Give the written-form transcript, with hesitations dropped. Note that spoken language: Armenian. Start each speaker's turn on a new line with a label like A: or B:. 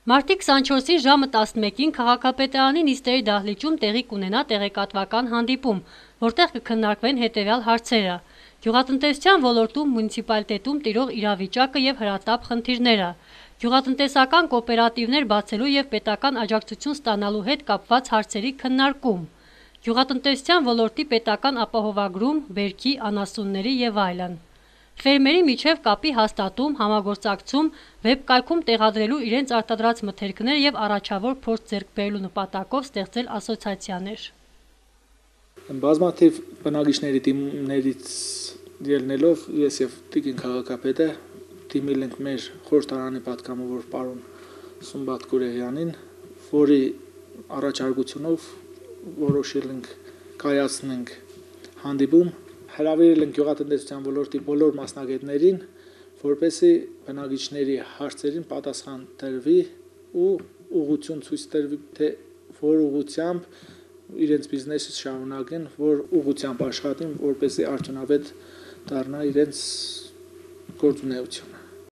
A: Մարտի 24-ի ժամը 11-ին քաղաքապետարանի նիստերի դահլիճում տեղի կունենա տեղեկատվական հանդիպում, որտեղ կքննարկվեն հետևյալ հարցերը. գյուղատնտեսության ոլորտում մունիցիպալիտետում տիրող իրավիճակը եւ հրատապ խնդիրները, գյուղատնտեսական կոոպերատիվներ բացելու եւ պետական աջակցություն ստանալու հետ կապված հարցերի քննարկում, գյուղատնտեսության ոլորտի պետական ապահովագրում, բերքի, անասունների եւ այլն։ Ֆերմերի միջև կապի հաստատում, համագործակցում, վեբկայքում տեղադրելու իրենց արտադրած մթերքները եւ առաջավոր փորձ ձեռք բերելու նպատակով ստեղծել ասոցիացիաներ։
B: Բազմաթիվ բնակիչների դիմումներից ելնելով ես եւ Տիկին քաղաքապետը դիմել ենք մեր խորհրդարանի պատգամավոր պարոն Սումբատ Գուրեհյանին, որի առաջարկությունով որոշել ենք կայացնենք հանդիպում, հրավիրել ենք գյուղատնտեսության ոլորտի բոլոր մասնագետներին, որպեսզի բնակիչների հարցերին պատասխան տրվի ու ուղղություն ցույց տրվի, թե որ ուղղությամբ իրենց բիզնեսը շարունակեն, որ ուղղությամբ աշխատեն, որպեսզի արդյունավետ դառնա իրենց գործունեությունը։